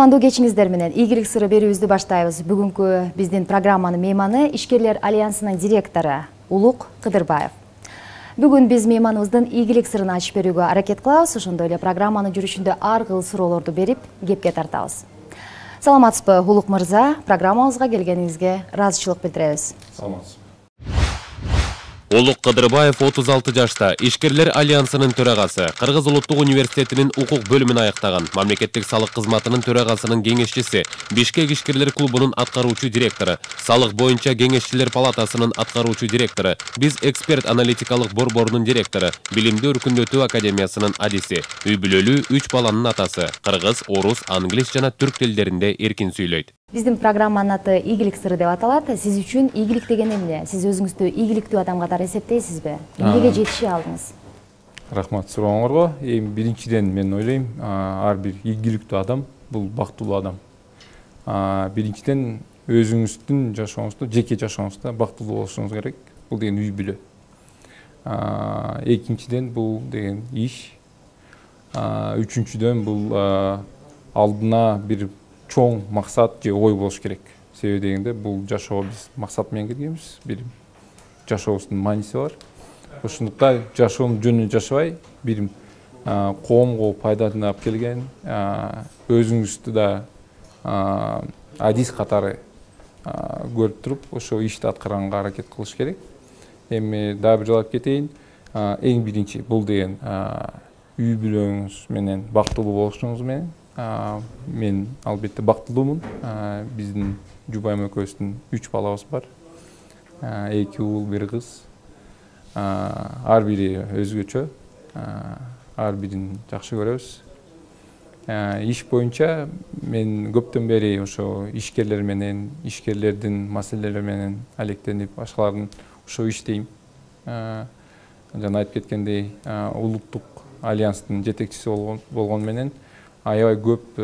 Кутмандуу кечиңиздер менен ийгилик сыры берүүбүздү баштайбыз. Бүгүнкү биздин программанын мейманы Ишкерлер альянсынын директору Улук Кыдырбаев. Бүгүн биз мейманыбыздын ийгилик сырын ачып берүүгө аракет кылабыз. Ошондой эле программанын жүрүшүндө ар кыл суроолорду берип, кепке тартабыз. Саламатсызбы, Улук мырза? Программабызга келгениңизге ыраазычылык билдиребиз. Саламатсызбы. Улук Кыдырбаев 36 жашта, Ишкерлер альянсынын төрагасы, Кыргыз улуттук университетинин укук бөлүмүн аяктаган, мамлекеттик салык кызматынын төрагасынын кеңешчиси, Бишкек ишкерлер клубунун аткаруучу директору, салык боюнча кеңешчилер палатасынын аткаруучу директору, биз эксперт аналитикалык борборунун директору, Билимди өркүндөтүү академиясынын адиси, үй бүлөлүү 3 баланын атасы, кыргыз, орус, англис жана түрк тилдеринде эркин сүйлөйт. Биздин программанын аты ийгилик сыры деп аталат. Сиз үчүн ийгилик деген эмне? Сиз өзүңүздү ийгиликтүү адам катары эсептейсизби? Эмнеге жетише алдыңыз? Рахмат сурооңорго. Биринчиден мен ойлойм, ар бир ийгиликтүү адам бул бактылуу адам. Биринчиден өзүңүздүн жашооңузда, жеке жашооңузда бактылуу болушуңуз керек. Бул деген үй бүлө. Экинчиден бул деген иш. Үчүнчүдөн бул алдына бир чоң максат же ой болуш керек. Себеби дегенде бул жашоого биз максат менен келгенбиз. Бир жашообуздун мааниси бар. Ошондуктан жашоонун жөнүнө жашабай, бир коомго пайданы алып келген, өзүңүздү да адис катары көрүп туруп, ошо ишти аткарганга аракет кылыш керек. Эми дагы бир жолу айтып кетейин. Эң биринчи бул деген үй бүлөңүз менен бактылуу болушуңуз менен. Мен албетте бактылуумун. Биздин жубайым экөөбүздүн 3 балабыз бар. 2 уул, 1 кыз. Ар бири өзгөчө. Ар бирин жакшы көрөбүз. Иш боюнча мен көптөн бери ошо ишкерлер менен, ишкерлердин маселелери менен алектенип, башкалардын ошо иштейм. Жана айтып кеткендей, улуттук альянстын жетекчиси болгон менен аябай көп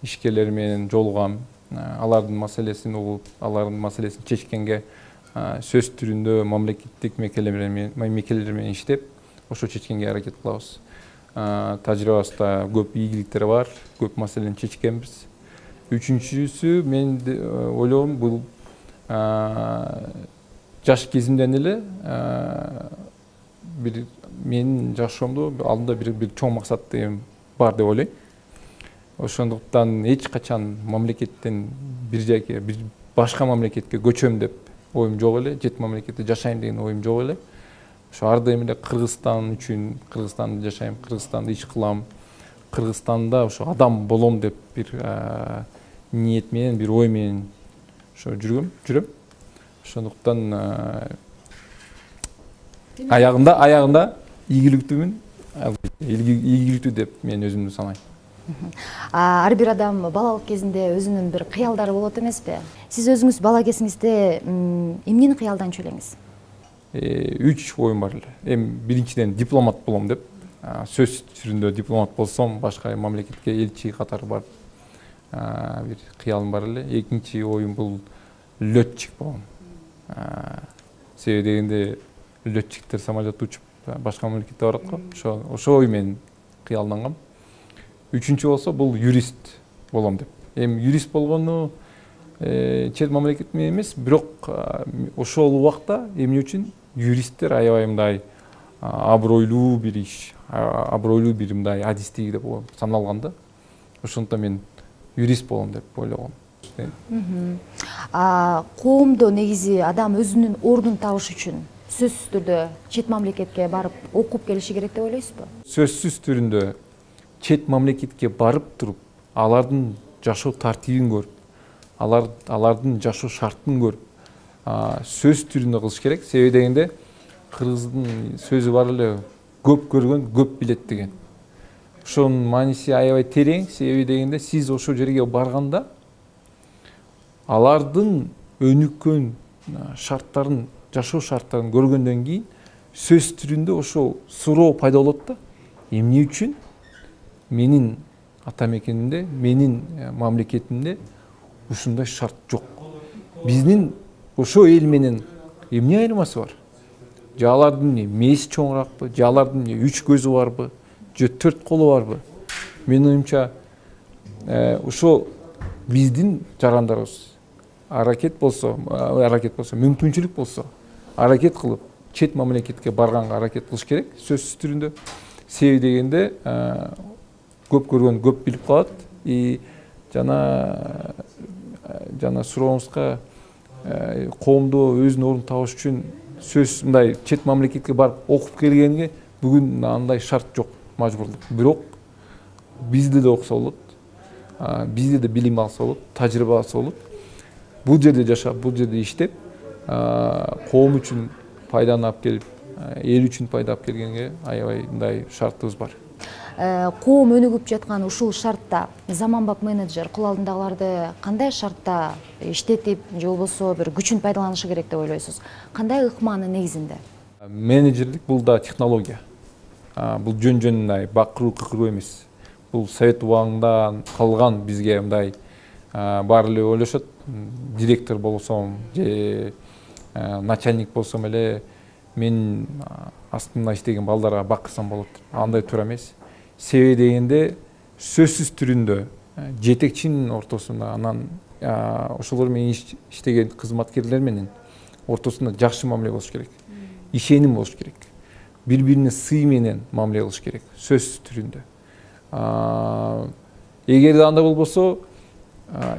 ишкерлер менен жолугам, алардын маселесин угуп, алардын маселесин чечкенге сөз түрүндө мамлекеттик мекемелер менен иштеп, ошо чечкенге аракет кылабыз. Тажрыйбабызда көп ийгиликтер бар, көп маселени чечкенбиз. Үчүнчүсү мен ойлойм, бул жаш кезимден эле бир менин жашоомдо алдында бир чоң максат деген бар деп ойлойм. Ошондуктан эч качан мамлекеттен бир жайга, бир башка мамлекетке көчөм деп оюм жок эле, жет мамлекетте жашайм деген оюм жок эле. Ошо ар дайым эле Кыргызстан үчүн, Кыргызстанда жашайм, Кыргызстанда иш кылам, Кыргызстанда ошо адам болом деп бир ниет менен, бир ой менен ошо жүрөм. Ошондуктан аягында ийгиликтүүмүн. Ийгиликтүү деп мен өзүмдү санайм. Ар бир адам балалык кезинде өзүнүн бир кыялдары болот эмеспи? Сиз өзүңүз бала кезиңизде эмнени кыялданчу элеңиз? 3 оюм бар эле. Эми биринчиден дипломат болом деп, сөз түрүндө дипломат болсом, башка мамлекетке элчи катары барып, бир кыялым бар эле. Экинчи оюм бул летчик болом. Себеби дегенде летчиктер самолетто учуп башка мамлекетте барат го. Ошо ой менен кыялдангам. Үчүнчү болсо бул юрист болом деп. Эми юрист болгону чет мамлекет менен эмес, бирок ошол убакта эмне үчүн юристтер аябай мындай абройлуу бир иш, абройлуу бир мындай адистик деп саналган да. Ошондуктан мен юрист болом деп ойлогом. Коомдо негизи адам өзүнүн ордун табыш үчүн сөзсүз түрдө чет мамлекетке барып окуп келиши керек деп ойлойсузбу? Сөзсүз түрүндө чет мамлекетке барып туруп, алардын жашоо тартибин көрүп, алардын жашоо шартын көрүп, сөз түрүндө кылыш керек. Себеби дегенде кыргыздын сөзү бар эле, көп көргөн көп билет деген. Ошонун мааниси аябай терең. Себеби дегенде сиз ошол жерге барганда алардын өнүккөн шарттарын, жашоо шарттарын көргөндөн кийин сөз түрүндө ошол суроо пайда болот да. Эмне үчүн менин ата мекенимде, менин мамлекетимде ушундай шарт жок? Биздин ошо эл менен эмне айырмасы бар? Же алардын мээси чоңуракпы? Же алардын 3 көзү барбы? Же 4 колу барбы? Менин оюмча ошо биздин жарандарыбыз аракет болсо, мүмкүнчүлүк болсо, аракет кылып чет мамлекетке барганга аракет кылыш керек, сөзсүз түрүндө. Себеби дегенде көп көргөн көп билип калат. Жана сурооңузга коомдо өзүнүн ордун табыш үчүн сөзсүз мындай чет мамлекетке барып окуп келгенге бүгүн андай шарт жок, мажбурлук. Бирок бизде да окуса болот, бизде да билим алса болот, тажрыйба алса болот. Бул жерде жашап, бул жерде иштеп, коом үчүн пайданы алып келип, эл үчүн пайда алып келгенге аябай мындай шартыбыз бар. Коом өнүгүп жаткан ушул шартта заманбап менеджер кул алдындагыларды кандай шартта иштетип, же болбосо бир күчүн пайдаланышы керек деп ойлойсуз? Кандай ыкманын негизинде? Менеджерлик бул да технология. Бул жөн бакыруу эмес. Бул совет убагында калган бизге мындай баары эле ойлошот, директор болсом же начальник болсом эле мен астымда иштеген балдарга бакырсам болот. Андай туура эмес. Себеби дегенде сөзсүз түрүндө жетекчинин ортосунда, анан ошолор менен иштеген кызматкерлер менен ортосунда жакшы мамиле болуш керек. Ишеним болуш керек. Бири-бирине сый менен мамиле кылыш керек, сөзсүз түрүндө. Эгерде андай болбосо,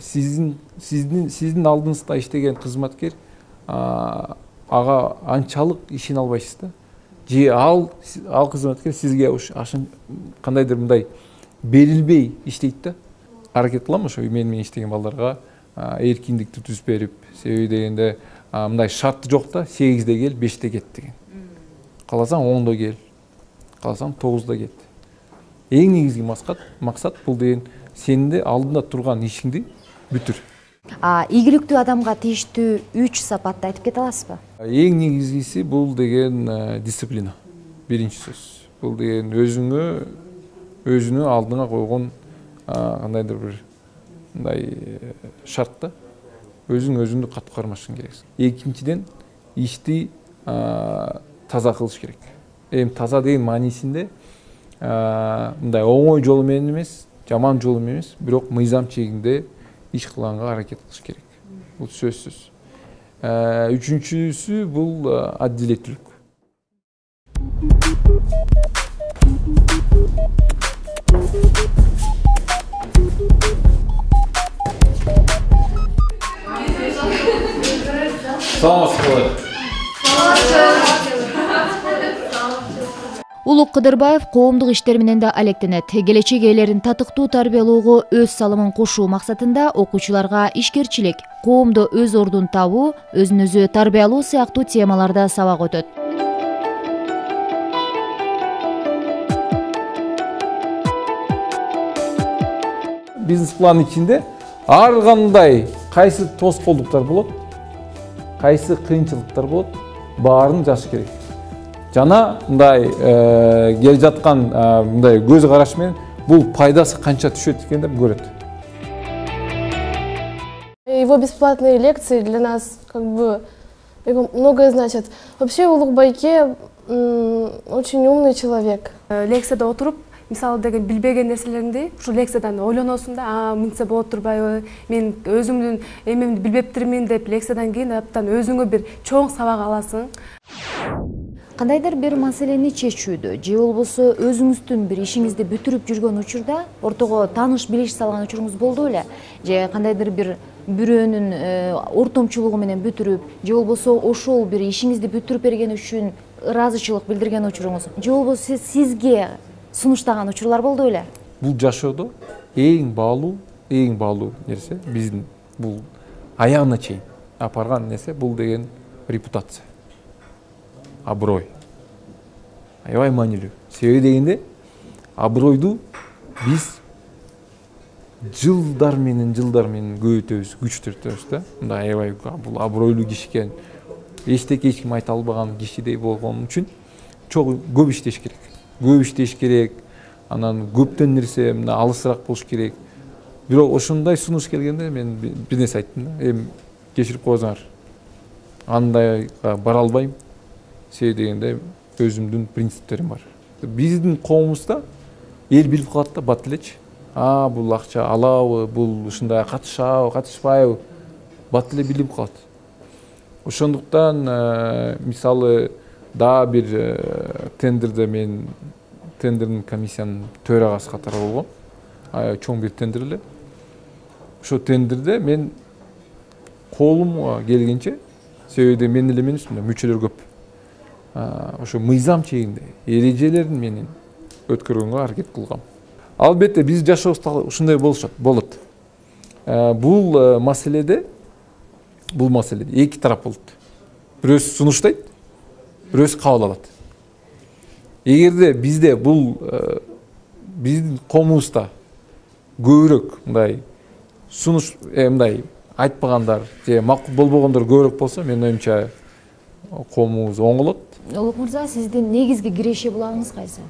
сиздин алдыңызда иштеген кызматкер ага анчалык ишене албайсыз да. Же ал кызматкер сизге кандайдыр мындай берилбей иштейт да. Аракет кылам ошо менен иштеген балдарга эркиндикти түзүп берип, себеби дегенде мындай шарты жок да, 8-де кел, 5-те кет деген. Кааласаң 10-до кел, кааласаң 9-да кет. Эң негизги максат бул деген сенде алдында турган ишиңди бүтүр. Ийгиликтүү адамга тийиштүү 3 сапатты айтып кете аласызбы? Эң негизгиси бул деген дисциплина. Биринчи сөз. Бул деген өзүнө алдыңа койгон кандайдыр бир мындай шартта өзүңдү катуу кармашың керексиң. Экинчиден ишти таза кылыш керек. Таза деген маанисинде мындай оңой жолу менен эмес, жаман жолу менен эмес, бирок мыйзам чегинде иш кылганга аракет кылыш керек. Бул сөзсүз. Үчүнчүсү бул адилеттүүлүк. Улук Кыдырбаев коомдук иштер менен да алектенет. Келечек ээлерин татыктуу тарбиялоого өз салымын кошуу максатында окуучуларга ишкерчилик, коомдо өз ордун табуу, өзүн өзү тарбиялоо сыяктуу темаларда сабак өтөт. Бизнес план ичинде ар кандай кайсы тоскоолдуктар болот, кайсы кыйынчылыктар болот, баарын жазыш керек. Жана мындай кел жаткан мындай көз караш менен бул пайдасы канча түшөт экендеп көрөт. Его бесплатные лекции для нас многое значат. Вообще Улук Байке очень умный человек. Лекцияда отуруп, мисалы деген билбеген нерселеринди ушу лекциядан ойлоносуң да, мынтсе болот турбайбы, мен өзүмдүн эмемди билбептирмин деп лекциядан кийин аптан өзүңө бир чоң сабак аласың. Кандайдыр бир маселени чечүүдө же болбосо өзүңүздүн бир ишиңизди бүтүрүп жүргөн учурда ортого тааныш билиш салган учуруңуз болду беле? Же кандайдыр бир бирөөнүн ортомчулугу менен бүтүрүп, же болбосо ошол бир ишиңизди бүтүрүп берген үчүн ыраазычылык билдирген учуруңуз, же болбосо сизге сунуштаган учурлар болду беле? Бул жашоодо эң баалуу нерсе биздин бул аягына чейин апарган нерсе бул деген репутация. Аброй. Аябай маанилүү. Себеби дегенде абройду биз жылдар менен көбөйтөбүз, күчтөртөбүз да. Мындай аябай бул абройлуу киши экен. Эчтеке эч ким айта албаган кишидей болгон үчүн көп иштеш керек. Көп иштеш керек. Анан көптөн нерсе мына алысыраак болуш керек. Бирок ошондой сунуш келгенде мен бир нерсе айттым да. Кечирип коюңар. Андайга бара албайм. Себеби дегенде өзүмдүн принциптерим бар. Биздин коомубузда эл билип калат да бат элечи. бул акча алабы, бул ушундай катышабы, катышпайбы, бат эле билип калат. Ошондуктан мисалы дагы бир тендерде мен тендердин комиссиянын төрагасы катары болгом. Чоң бир тендер эле. Ошо тендерде мен колумга келгенче, себеби мен эле эмес, мүчөлөр көп. Ошо мыйзам чегинде эрежелерин менен өткөргөнгө аракет кылгам. Албетте биз жашообузда ушундай болот. Бул маселеде эки тарап болот. Бирөөсү сунуштайт, бирөөсү кабыл алат. Эгерде бизде бул биздин коомубузда көбүрөөк мындай сунуш мындай айтпагандар же макул болбогондор көбүрөөк болсо, менин оюмча коомубуз оңолот. Улук мырза, сиздин негизги киреше булагыңыз кайсы?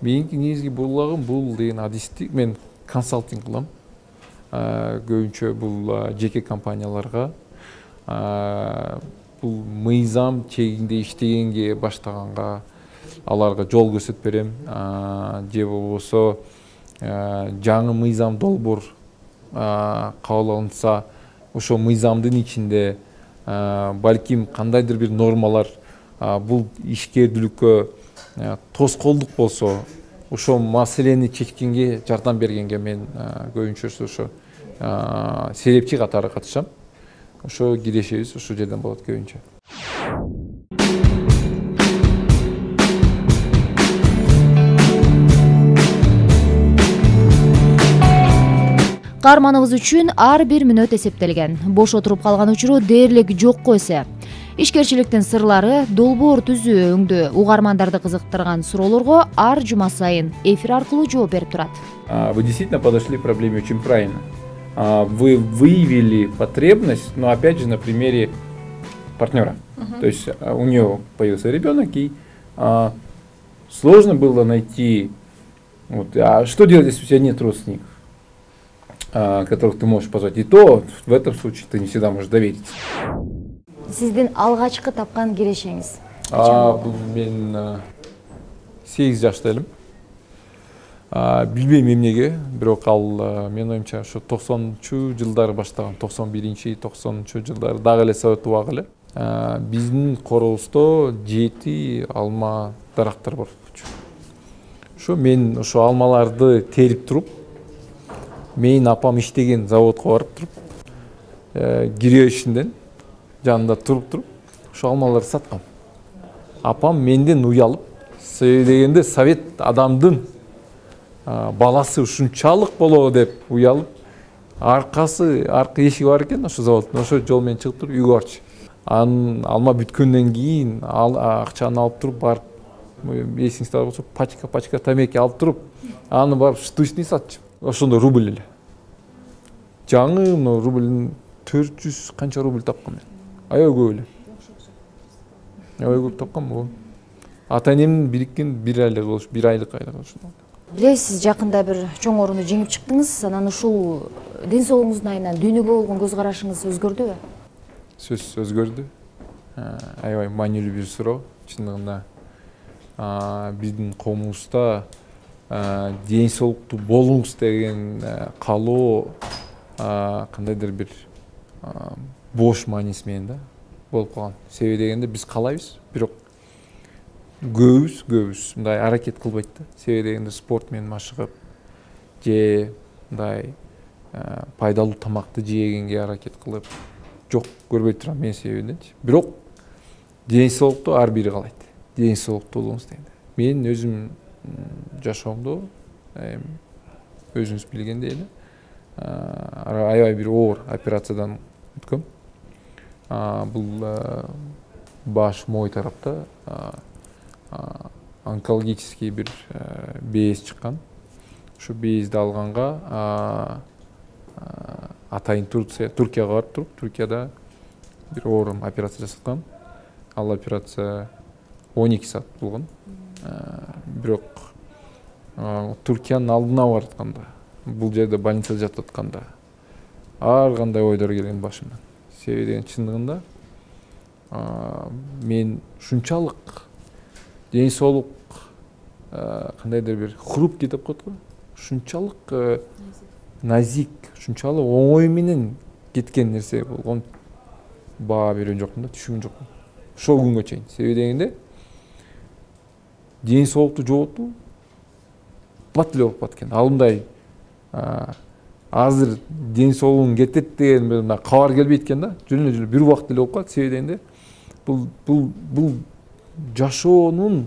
Менин негизги булагым бул деген адисти мен консалтинг кылам. Көбүнчө бул жеке компанияларга бул мыйзам чегинде иштегенге баштаганга аларга жол көрсөтүп берем. Же болбосо жаңы мыйзам долбоор кабыл алынса, ошо мыйзамдын ичинде балким кандайдыр бир нормалар бул ишкердүүлүккө тоскоолдук болсо, ошо маселени чечкенге жардам бергенге мен көбүнчөсү ошо серепчи катары катышам. Ошо кирешебиз ошол жерден болот көбүнчө. Каарманыбыз үчүн ар бир мүнөт эсептелген. Бош отуруп калган учуру дээрлик жокко эсе. Ишкерчиликтин сырлары, долбоор түзүү өңдө угармандарды кызыктырган суроолорго ар жума сайын эфир аркылуу жооп берип турат. Вы действительно подошли к проблеме очень правильно. Вы выявили потребность, но опять же на примере партнера. То есть у нее появился ребенок, и сложно было найти, а что делать, если у тебя нет родственников, которых ты можешь позвать. И то в этом случае ты не всегда можешь довериться. Сиздин алгачкы тапкан кирешеңиз? Мен 8 жашта элем. Билбейм эмнеге, бирок ал менин оюмча ошо 90-чу жылдары баштаган, 91-90-чу жылдары дагы эле совет убагы эле. Биздин корообузда 7 алма дарактар бар. Ошо мен ошо алмаларды терип туруп, менин апам иштеген заводко барып туруп, киребишинден жанында туруп, ошо алмаларды саткам. Апам менден уялып, себеби дегенде совет адамдын баласы ушунчалык болобу деп уялып, аркы эшиги бар экен ошо заводдун, ошо жол менен чыгып туруп үйгө барчу. Анын алма бүткөндөн кийин акчаны алып туруп барып, эсиңизде болсо пачка тамеки алып туруп, аны барып штучный сатчу. Ошондо рубль эле. Жаңы рубльдин 400 канча рубль тапкам мен. Аябай көп эле. Аябай көп тапкам го. Ата-энемдин бириккен 1 айлык болуш, 1 айлык ошондо. Билесиз, жакында бир чоң орунду жеңип чыктыңыз. Анан ушул ден соолугуңуздун айынан дүйнөгө болгон көз карашыңыз өзгөрдүбү? Сөз өзгөрдү. Аябай маанилүү бир суроо. Чындыгында биздин коомубузда ден соолуктуу болуңуз деген каалоо кандайдыр бир бош мааниси менен да болуп калган. Себеби дегенде биз каалайбыз, бирок көбүбүз мындай аракет кылбайт да. Себеби дегенде спорт менен машыгып, же мындай пайдалуу тамакты жегенге аракет кылып жок көрбөй турам мен себебиненчи. Бирок ден соолукту ар бири каалайт. Ден соолуктуу болуңуз дегенде. Мен өзүм жашоомдо өзүңүз билгендей эле аябай бир оор операциядан өткөм. Бул баш мой тарапта онкологический бир без чыккан. Ошо безди алганга атайын Туркияга барып туруп, Туркияда бир оор операция жасаткан. Ал операция 12 саат болгон. Бирок Туркиянын алдына баратканда, бул жерде больницада жатып атканда ар кандай ойдор келген башымдан. Себеби деген чындыгында мен ушунчалык ден соолук кандайдыр бир хрупкий деп коет го. ушунчалык назик, ушунчалык оңой менен кеткен нерсе болгон баа берген жокмун да, түшүнгөн жокмун ошол күнгө чейин. Себеби дегенде ден соолукту жоготуу бат эле болуп калат экен. Ал мындай азыр ден соолугуң кетет деген мындай кабар келбейт экен да. Жөн эле бир убакыт эле болуп калат. Себеби дегенде бул жашоонун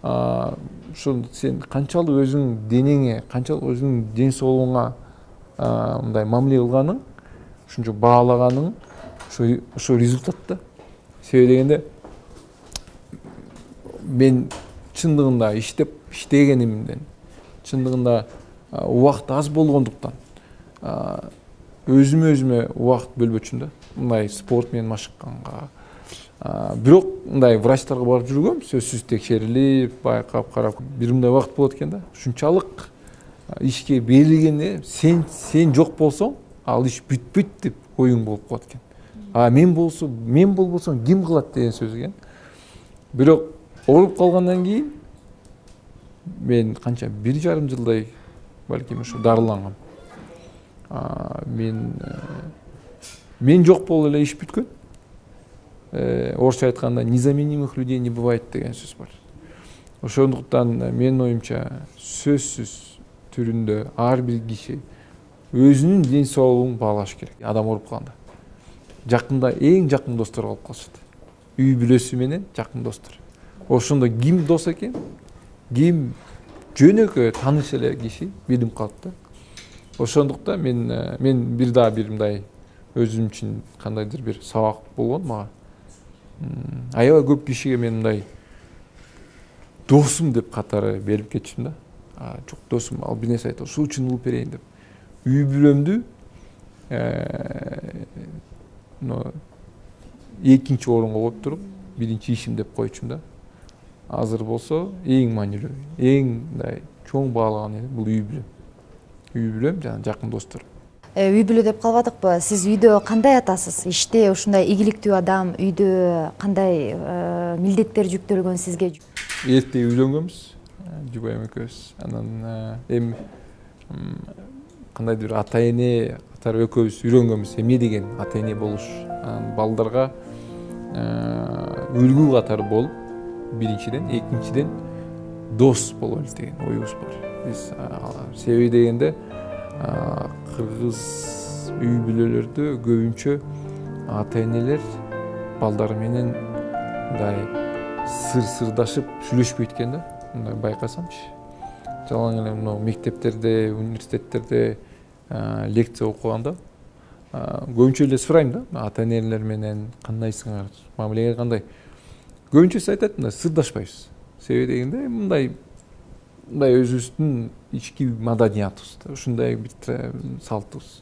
ошо сен канчалык өзүңүн денеңе, канчалык өзүңүн ден соолугуңа мындай мамиле кылганың, ошончо баалаганың ошо результат да. Себеби дегенде мен чындыгында иштегенимден, чындыгында убакыт аз болгондуктан өзүмө убакыт бөлбөчүм да. Мындай спорт менен машыкканга. Бирок мындай врачтарга барып жүргөм, сөзсүз текшерилип, байкап, карап, бир мындай убакыт болот экен да. Ушунчалык ишке берилгенде сен жок болсоң, ал иш бүтпөйт деп оюң болуп калат экен. Мен болбосом ким кылат деген сөз экен. Бирок ооруп калгандан кийин мен канча 1,5 жылдай балким ушу дарылангам. Мен жок болуп эле иш бүткөн. Орусча айтканда незаменимых людей не бывает деген сөз бар. Ошондуктан менин оюмча сөзсүз түрүндө ар бир киши өзүнүн ден соолугун баалаш керек. Адам ооруп калганда жакында эң жакын достор калып калышат. Үй бүлөсү менен жакын достор. Ошондо ким дос экен, ким жөнөкөй тааныш эле киши билип калат да. Ошондуктан мен бир мындай өзүм үчүн кандайдыр бир сабак болгон мага. Аябай көп кишиге мен мындай досум деп катары берип кетчүмүн да. Жок досум, ал бир нерсе айтты, ушул үчүн улуп берейин деп. Үй бүлөмдү экинчи орунга коюп туруп, биринчи ишим деп койчумун да. Азыр болсо эң маанилүү, эң мындай чоң баалаган эре бул үй бүлөм. Үй бүлөм жана жакын достор. Үй бүлө деп калбадыкпы? Сиз үйдө кандай атасыз? Иште ушундай ийгиликтүү адам, үйдө кандай милдеттер жүктөлгөн сизге? Эрте үйлөнгөнбүз, жубайым экөөбүз. Анан эми кандайдыр ата эне катары экөөбүз үйрөнгөнбүз. Эмне деген ата эне болуш? Балдарга үлгү катары болуп, биринчиден, экинчиден дос бололу деген оюбуз бар. Биз себеби дегенде кыргыз үй бүлөлөрдө көбүнчө ата энелер балдары менен мындай сырдашып сүйлөшпөйт экен да. Мындай байкасамчы. Жалаң эле мына мектептерде, университеттерде лекция окуганда көбүнчө эле сурайм да, ата энелер менен кандайсыңар, мамилеңер кандай? Көбүнчөсү айтат, мындай сырдашпайбыз. Себеби дегенде мындай өзүбүздүн ички маданиятыбыз, ушундай бир салтыбыз.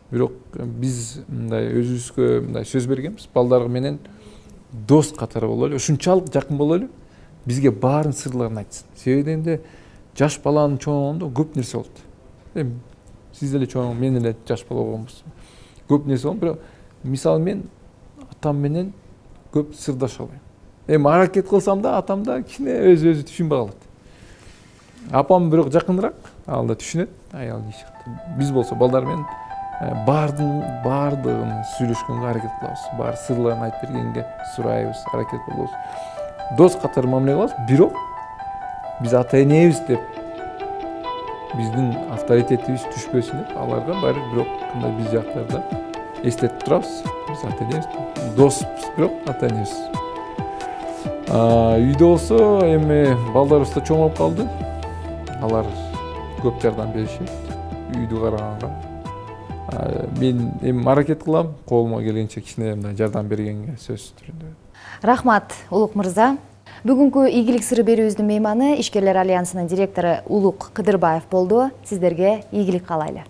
Бирок биз мындай өзүбүзгө мындай сөз бергенбиз, балдар менен дос катары бололу, ушунчалык жакын бололу, бизге баарын сырларын айтсын. Себеби дегенде жаш баланын чоңугунда көп нерсе болот. Эми сиз деле чоң, мен эле жаш бала болгонбуз. Көп нерсе болот, бирок мисалы мен атам менен көп сырдаша албайм. Эми аракет кылсам да, атам да кичине өзү түшүнбөй калат. Апам бирок жакыныраак, ал да түшүнөт, аял киши. Биз болсо балдар менен баардыгын сүйлөшкөнгө аракет кылабыз. Баары сырларын айтып бергенге сурайбыз, аракет кылабыз. Дос катары мамиле кылабыз, бирок биз ата энебиз деп биздин авторитетибиз түшпөсүн деп аларга баары бирок кандай биз жактарда эстетип турабыз. Биз ата энебиз, доспуз, бирок ата энебиз. Үйдө болсо эми балдарыбыз да чоңоюп калды. Алар көп жардам беришет үйдү караганга. Мен эми аракет кылам, колума келгенче кичине мындай жардам бергенге сөз түрүндө. Рахмат, Улук мырза. Бүгүнкү ийгилик сыры берүүбүздүн мейманы Ишкерлер альянсынын директору Улук Кыдырбаев болду. Сиздерге ийгилик каалайлы.